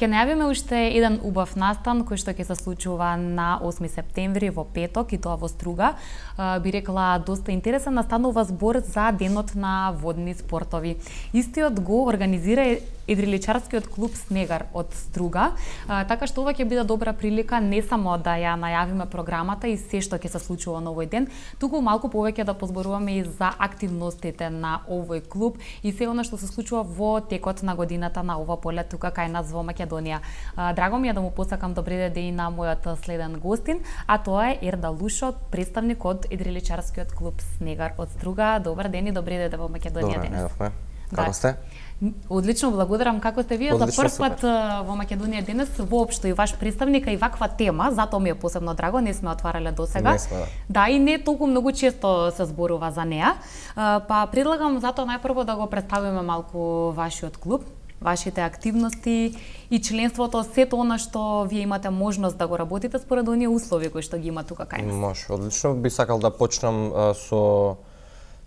Ке најавиме уште еден убав настан кој што ќе се случува на 8 септември во петок и тоа во Струга. Би рекла доста интересен, настанува збор за денот на водни спортови. Истиот го организира Идриличарскиот клуб Снегар од Струга, така што ова ќе биде добра прилика не само да ја најавиме програмата и се што ќе се случува на овој ден, туку малку повеќе да позборуваме и за активностите на овој клуб и се она што се случува во текот на годината на ова поле тука кај нас во Македонија. Драго ми е да му посакам добри ден и на мојот следен гостин, а тоа е Ерда Лушо, представник од Идриличарскиот клуб Снегар од Струга. Добар ден и добри ден во Македонија денес. Добре, како сте? Одлично, благодарам. Како сте вие? За прв пат во Македонија денес воопшто и ваш представник и ваква тема, затоа ми е посебно драго, не сме отварале досега. Не сме, да. И не толку многу често се зборува за неа. Па предлагам затоа најпрво да го представиме малку вашиот клуб, вашите активности и членството, сето она што вие имате можност да го работите според оние услови кои што ги има тука кај нас. Може, одлично. Би сакал да почнам со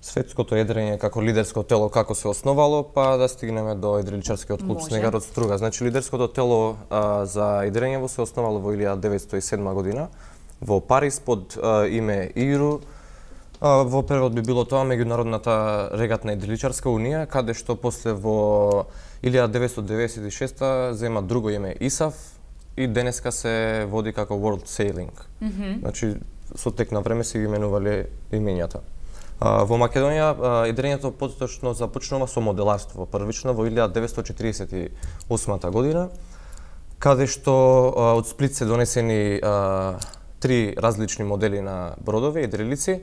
светското едрење како лидерско тело, како се основало, па да стигнеме до Идриличарскиот клуб Снегар од Струга. Значи, лидерското тело за едрењево се основало во 1907 година во Париз под име ИРУ. Во превод би било тоа Меѓународната регатна идриличарска унија, каде што после во 1996 зема друго име ИСАФ и денеска се води како World Sailing. Значи, со тек на време се ги менувале имењата. Во Македонија едрењето поточно започнува со моделарство, првично во 1948 година, каде што од Сплит се донесени три различни модели на бродови и дрелици,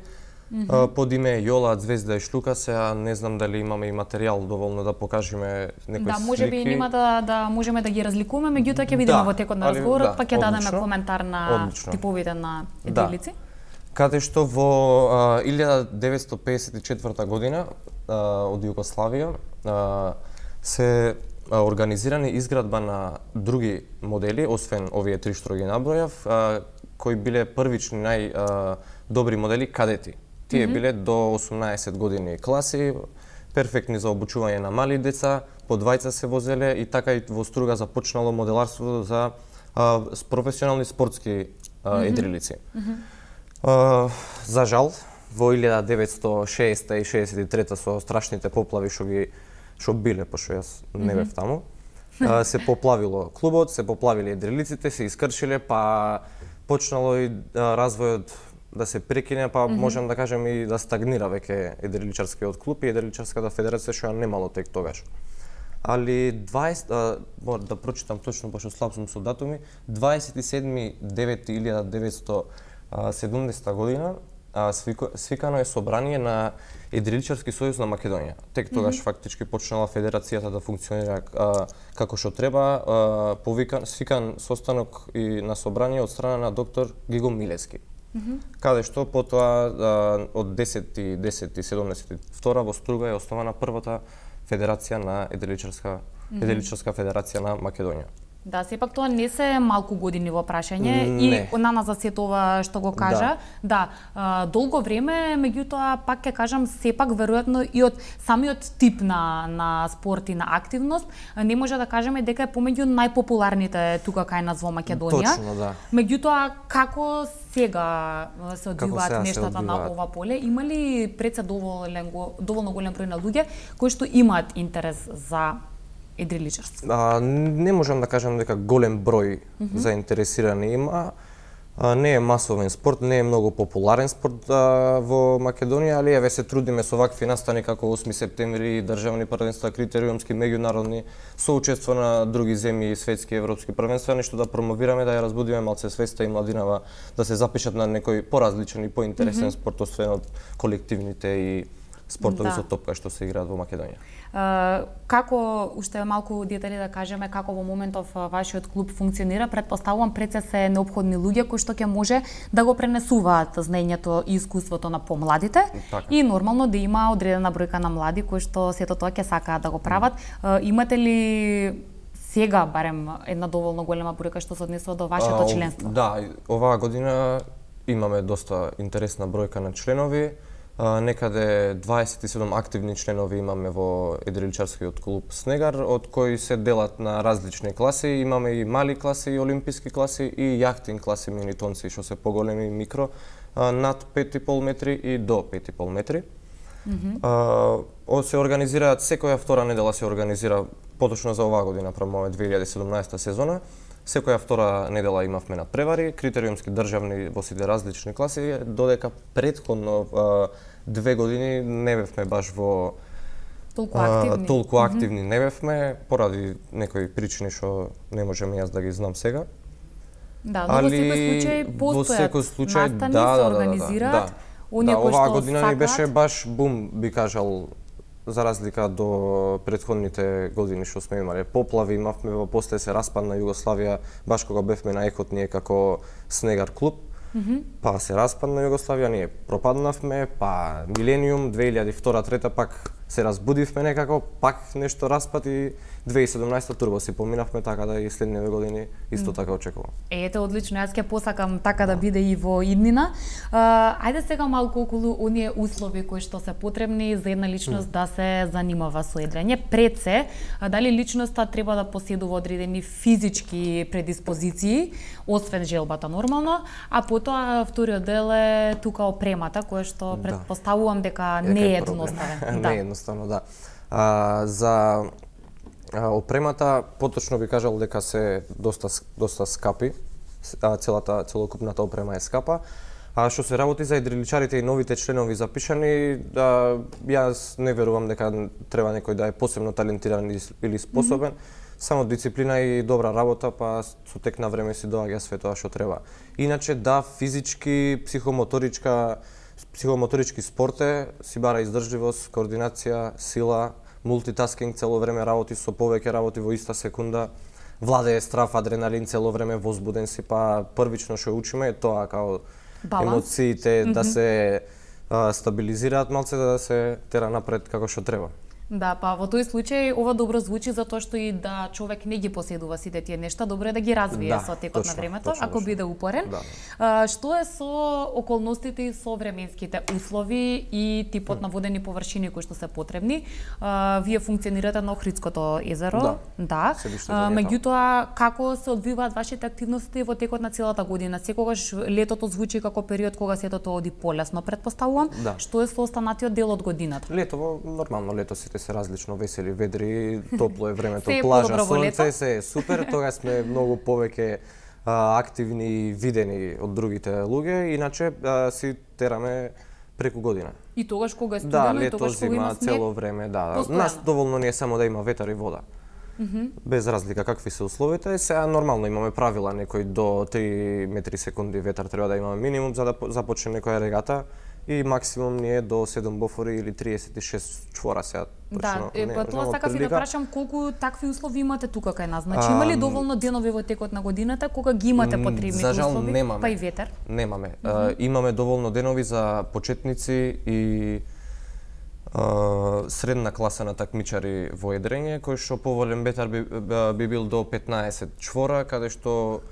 под име Јола, Звезда и Шлука. Сега не знам дали имаме и материјал доволно да покажеме некои слики. Да, можеби нема да можеме да ги разликуваме, меѓутоа ќе видиме во текот на разговорот, па ќе дадеме коментар на типовите на дрелици. Каде што во 1954 година од Југославија се организирани изградба на други модели, освен овие три што ги набројав, кои биле првични најдобри модели кадети. Тие биле до 18 години класи, перфектни за обучување на мали деца, по двајца се возеле и така и во Струга започнало моделарството за професионални спортски едрилици. За жал, во 1960 и 63 со страшните поплави што биле, пошто јас не бев таму, се поплавило клубот, се поплавиле едрилиците, се искршиле, па почнало и развојот да се прекине, па можам да кажем и да стагнира веќе едриличарскиот клуб и едриличарската федерација што ја немало тек тогаш. Али мора да прочитам точно, пошто слаб сум со датуми, 27.9.1970 година свикано е собрание на Едриличарски сојуз на Македонија. Тек тогаш фактички почнала федерацијата да функционира како што треба, свикан состанок и на собрание од страна на доктор Гиго Милевски. Каде што потоа од 10.10.72 во Струга е основана првата федерација на Едриличарска федерација на Македонија. Да, сепак тоа не се малку години во прашање и на нас за сето ова што го кажа. Да, долго време, меѓутоа пак ќе кажам сепак веројатно и од самиот тип на спорт и на активност не може да кажеме дека е помеѓу најпопуларните тука кај нас во Македонија. Точно, да. Меѓутоа како сега се одвиваат нештата на ова поле? Има ли пред се доволно голем број на луѓе кои што имаат интерес за едриличарство? Не можам да кажам дека голем број заинтересирани има. Не е масовен спорт, не е многу популарен спорт во Македонија, али еве се трудиме со вакви настани како 8 септември, државни првенства, критериумски, меѓународни, со учество на други земји, светски, европски првенства, нешто да промовираме, да ја разбудиме малце свеста и младинава да се запишат на некој поразличен и поинтересен спорт, освен од колективните и спортови со топка што се играат во Македонија. Како, уште малку детали да кажеме, како во моментов вашиот клуб функционира, предпоставувам пред се неопходни луѓе кои што ќе може да го пренесуваат знаењето и искуството на помладите и нормално да има одредена бројка на млади кои што сето тоа ќе сакаат да го прават. Имате ли сега барем една доволно голема бројка што се однесува до вашето членство? Да, оваа година имаме доста интересна бројка на членови. Некаде 27 активни членови имаме во едриличарскиот клуб Снегар, од кои се делат на различни класи. Имаме и мали класи, олимписки класи и јахтин класи минитонци, што се поголеми микро, над 5,5 метри и до 5,5 метри. Се организираат секоја втора недела, се организира поточно за оваа година, промове 2017 сезона. Секоја втора недела имавме надпревари, критериумски државни во сите различни класи, додека претходно 2 години не бевме баш во толку активни не бевме, поради некои причини што не можам јас да ги знам сега. Да, но во секој случај настани се организираат. Оваа година ни беше баш бум, би кажал, за разлика до претходните години што сме имале. Поплави имавме, после се распадна Југославија, баш кога бевме на ехот ние како Снегар клуб, па се распадна Југославија, ние пропаднавме, па Милениум, 2002-2003 пак се разбудивме некако, пак нешто распад и 2017 турбо си поминавме, така да и следниве години исто така очекувам. Ете, одлично, јас ќе посакам така да биде и во иднина. Ајде сега малку околу оние услови кои што се потребни за една личност да се занимава со едрење. Пред се, дали личноста треба да поседува одредени физички предиспозиции, освен желбата нормално, а потоа вториот дел е тука опремата, која што претпоставувам дека не е едноставен. Не е едноставно, да. За опремата, поточно би кажал дека се доста скапи, целокупната опрема е скапа. А што се работи за едриличарите и новите членови запишани, јас не верувам дека треба некој да е посебно талентиран или способен, само дисциплина и добра работа, па со тек на време си доаѓа све тоа што треба. Иначе да, физички, психомоторички спорт си бара издржливост, координација, сила, мултитаскинг, цело време работи со повеќе работи во иста секунда, владее страв, адреналин, цело време возбуден си, па првично што учиме е тоа, као емоциите да се стабилизираат малце, да се тера напред како што треба. Да, па во тој случај ова добро звучи затоа што и да човек не ги поседува сите тие нешта, добро е да ги развие со текот на времето, ако биде упорен. Што е со околностите и со временските услови и типот на водени површини кои што се потребни? Вие функционирате на Охридското езеро, да. Меѓутоа, како се одвиваат вашите активности во текот на целата година? Секогаш летото звучи како период кога сето тоа оди полесно, претпоставувам. Што е со останатиот дел од годината? Лето, нормално лето сите се различно весели, ведри, топло е времето, плажа, сонце, се е супер, тогаш сме многу повеќе активни и видени од другите луѓе, иначе си тераме преку година. И тогаш кога е студено, и тогаш кога има снег? Цело време, да. Нас доволно не е само да има ветар и вода. Без разлика какви се условите, сега нормално имаме правила, некој до 3 метри секунди ветар треба да имаме минимум за да започне некоја регата. И максимум ние до 7 бофори или 36 чвора сега точно. Да, тоа сакав и да прашам колку такви услови имате тука кај нас. Значи има ли доволно денови во текот на годината кога ги имате потребните услови? За жал немаме. Па и ветер? Немаме. Имаме доволно денови за почетници и средна класа на такмичари во едрење, кој што поволен ветар би бил до 15 чвора, каде што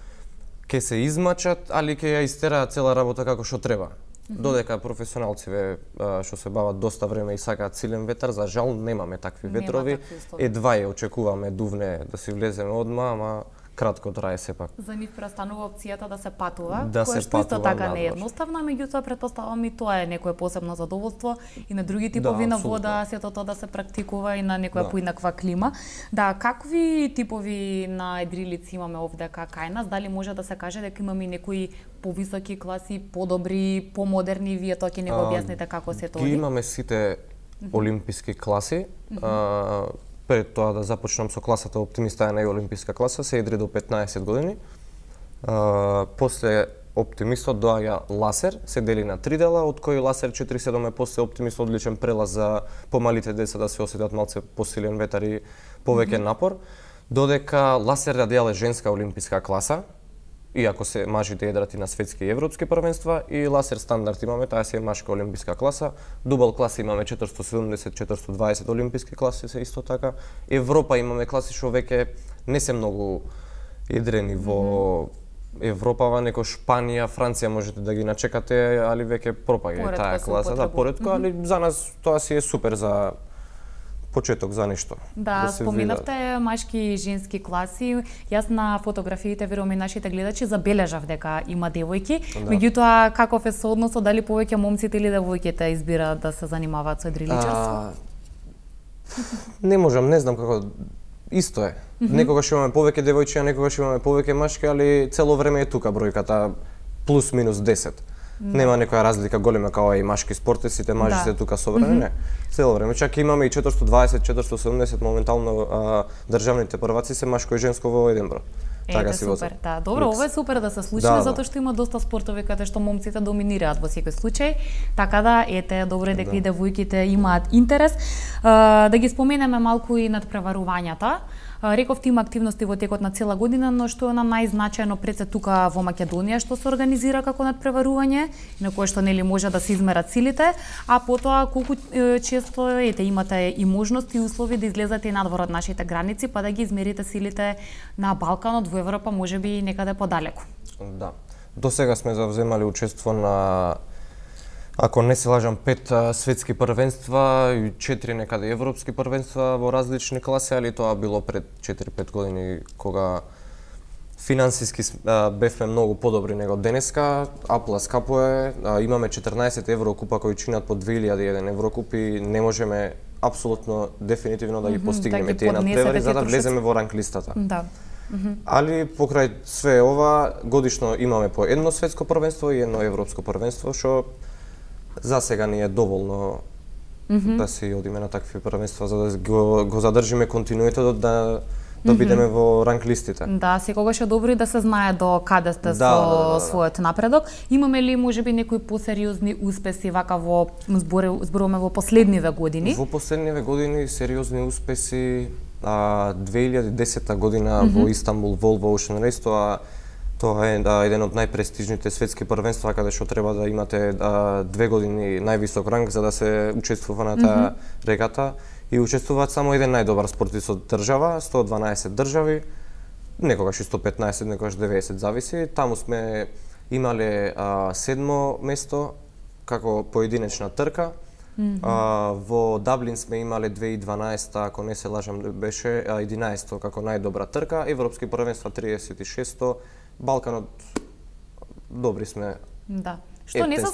ќе се измачат, али ќе ја истераат цела работа како што треба. Додека професионалциве што се бават доста време и сакаат силен ветар, за жал немаме такви ветрови. Едва ја очекуваме дувне да си влеземе одма, ама кратко трае сепак. За нив престанува опцијата да се патува, која што исто така не е едноставна, меѓутоа претпоставам и тоа е некое посебно задоволство и на други типови на вода, сето тоа да се практикува и на некоја поинаква клима. Да, какви типови на едрилици имаме овде кај нас? Дали може да се каже дека имаме некои повисоки класи, подобри, помодерни, вие тоа ќе не го објасните како се тоа? Ги имаме сите олимписки класи. Пред тоа да започнам со класата Оптимиста е најолимписка класа, се едри до 15 години. После Оптимистот доаѓа Ласер, се дели на 3 дела, од кои Ласер 4-7 е после Оптимист одличен прелаз за помалите деца да се осетат малце посилен ветар и повеќе напор. Додека Ласер Радијал е женска олимписка класа, иако се мажите едрат и на светски и европски првенства, и Ласер стандард имаме, таа се е машка олимписка класа. Дубл класа имаме 470-420 олимписки класи се исто така. Европа имаме класи што веќе не се многу едрени во Европава, неко Шпанија, Франција можете да ги начекате, али веќе пропаѓа таа класа, да, поретко, али за нас тоа си е супер за почеток за нешто. Да, споменавте машки и женски класи. Јас на фотографиите, верувам и нашите гледачи, забележав дека има девојки. Меѓутоа, каков е соодносот, дали повеќе момците или девојките избираат да се занимаваат со едриличарство? Не можам, не знам како. Исто е. Некогаш имаме повеќе девојчиња, некогаш имаме повеќе машки, али цело време е тука бројката плюс минус 10. Нема некоја разлика голема како и машки спорт, сите мажи се тука собрани, не. Цело време, чак имаме и 420, 470 моментално државните прваци се машко и женско во еден број. Така си супер, да. Добро, ова е супер да се случи, затоа што има доста спортови каде што момците доминираат во секој случај. Така да, ете, добро е дека и девојките имаат интерес. Да ги споменеме малку и надпреварувањата. Рековте има активности во текот на цела година, но што е на најзначајно пред се тука во Македонија што се организира како надпреварување, на кое што нели може да се измерат силите, а потоа колку често имате и можности и услови да излезете надвор од нашите граници, па да ги измерите силите на Балканот, во Европа, можеби и некаде подалеку. Да. До сега сме завземали учество на, ако не се лажам, 5 светски првенства и 4 некаде европски првенства во различни класи, али тоа било пред 4-5 години кога финансиски бевме многу подобри него денеска. Аплас капо е, имаме 14 еврокупа кои чинат по 2001 еврокуп и не можеме апсолутно дефинитивно да ги постигнеме тие надпревари за да влеземе во ранг листата. Да. Али покрај све ова годишно имаме по едно светско првенство и едно европско првенство, што за сега ни е доволно да си одиме на такви првенства за да го задржиме континуитетот да бидеме во ранг листите. Да, секогаш е добро и да се знае до каде сте со својот напредок. Имаме ли можеби некои посериозни успеси вака во зборуваме во последниве години? Во последниве години сериозни успеси 2010 година во Истанбул Volvo Ocean Race, тоа е еден од најпрестижните светски првенства каде што треба да имате 2 години највисок ранг за да се учествува на таа регата и учествуваат само еден најдобар спортист од држава, 112 држави, некогаш и 115, некогаш 90 зависи. Таму сме имале 7 место како поединечна трка. Во Даблин сме имале 2012, ако не се лажам, беше 11 како најдобра трка, европски првенства 36, Балканот добри сме. Да. Што не се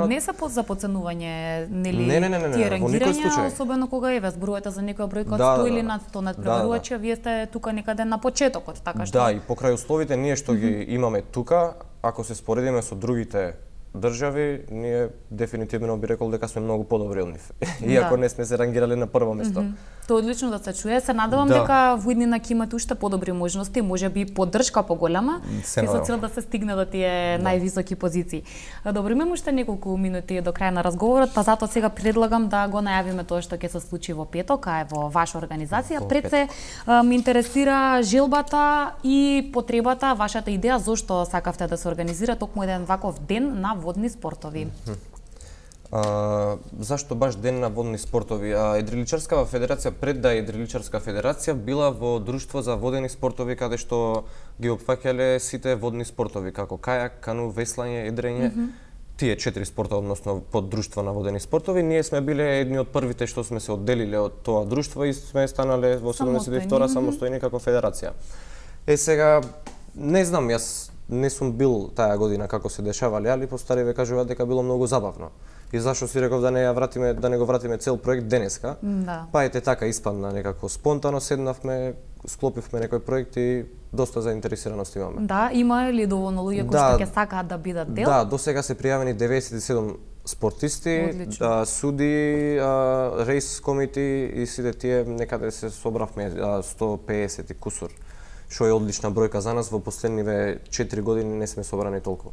не се за подценување, нели тие рангирања, особено кога ве зборувате за некоја бројка од 100 или над 100 надпреварувачи, вие сте тука некаде на почетокот, така што. Да, и покрај условите ние што ги имаме тука, ако се споредиме со другите држави, ние дефинитивно би рекол дека сме многу подобри од нив. Иако не сме се рангирале на прво место. Тоа одлично да се чуе. Се надевам дека во иднина ќе имате уште подобри можности, можеби поддршка поголема, со цел да се стигне до тие највисоки позиции. Добро, имаме уште неколку минути до крај на разговорот, па затоа сега предлагам да го најавиме тоа што ќе се случи во петок, а е во ваша организација. Пред се ме интересира желбата и потребата, вашата идеја зошто сакавте да се организира токму еден ваков ден на водни спортови. Зашто баш ден на водни спортови? Едриличарскава федерација пред да е едриличарска федерација била во друштво за водени спортови каде што ги опфаќале сите водни спортови како кајак, кану, веслање, едрење. Тие 4 спорта, односно под друштво на водени спортови, ние сме биле едни од првите што сме се одделиле од тоа друштво и сме станале во 72 самостојни како федерација. Сега не знам, јас не сум бил таа година како се дешавале, али постари ве кажуваат дека било многу забавно. И зашто си реков да не го вратиме цел проект денеска. Па ете така испадна некако спонтано седнавме, склопивме некој проект и доста заинтересираност имаме. Да, има ли доволно луѓе кои што ќе сакаат да бидат дел? Да, до сега се пријавени 97 спортисти, суди, рейс комити и сите тие некаде се собравме 150 и кусур. Што е одлична бројка за нас, во последниве 4 години не сме собрани толку.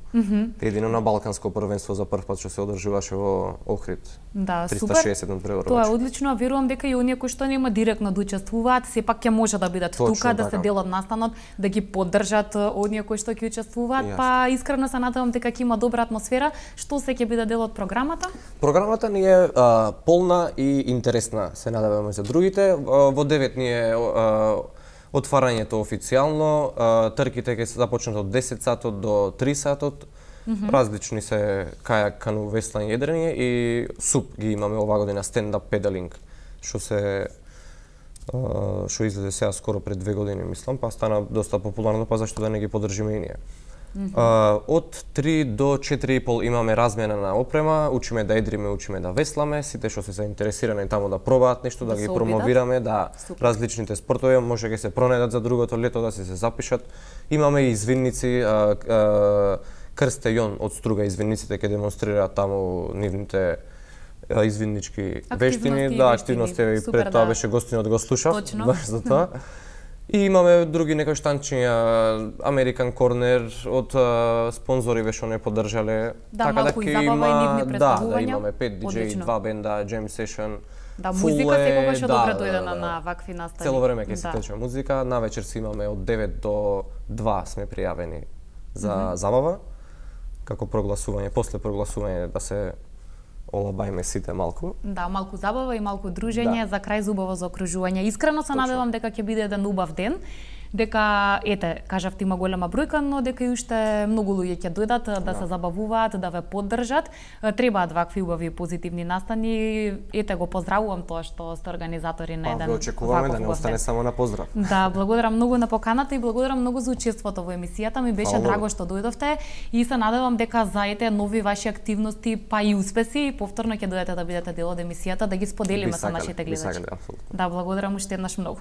Едино на Балканско првенство за прв пат што се одржуваше во Охрид. Да, 360 надпреварувачи. Тоа е одлично, верувам дека и оние кои што нема директно да учествуваат, сепак ќе може да бидат тука, да се дел од настанот, да ги поддржат оние кои што ќе учествуваат, па искрено се надевам дека ќе има добра атмосфера. Што се ќе биде дел од програмата? Програмата ни е полна и интересна, се надеваме за другите. Во 9 ни е Отварањето официјално, трките ќе се започнат од 10 сатот до 3 сатот. Различни се кајак, кану, веслање, едрење и СУП ги имаме оваа година, стендап педалинг, што излезе сега скоро пред 2 години, мислам, па стана доста популарно, па зашто да не ги поддржиме и ние. Од 3 до 4,5 имаме размена на опрема, учиме да едриме, учиме да весламе, сите што се заинтересирани таму да пробаат нешто, да ги промовираме, да различните спортови, може ќе се пронедат за другото лето, да се запишат. Имаме и извинници, Крсте Јон од Струга извинниците ќе демонстрираат таму нивните извиннички вештини, активности, и пред тоа беше гостинот, го слушав, баш за тоа. И имаме други некои штанчиња, American Corner од спонзори што не поддржале. Да, малку и забава и нивни представувања. Да, имаме 5 DJ, 2 бенда, jam session. Да, музика секогаш е добра дојдена на вакви настави. Цело време ќе се тече музика, навечер си имаме од 9 до 2 сме пријавени за забава, како прогласување, после прогласување да се олабајме сите малку. Да, малку забава и малку дружење за крај убаво заокружување. Искрено се надевам дека ќе биде еден убав ден, дека кажав ти има голема бројка, но дека и уште многу луѓе ќе дојдат да се забавуваат, да ве поддржат. Требаат вакви убави позитивни настани. Го поздравувам тоа што сте организатори на еден. Го очекуваме да не остане само на поздрав. Да, благодарам многу на поканата и благодарам многу за учеството во емисијата. Ми беше драго што дојдовте и се надевам дека за нови ваши активности, па и успеси, повторно ќе дојдете да бидете дел од емисијата, да ги споделиме со нашите гледачи. Да, благодарам уште еднаш многу.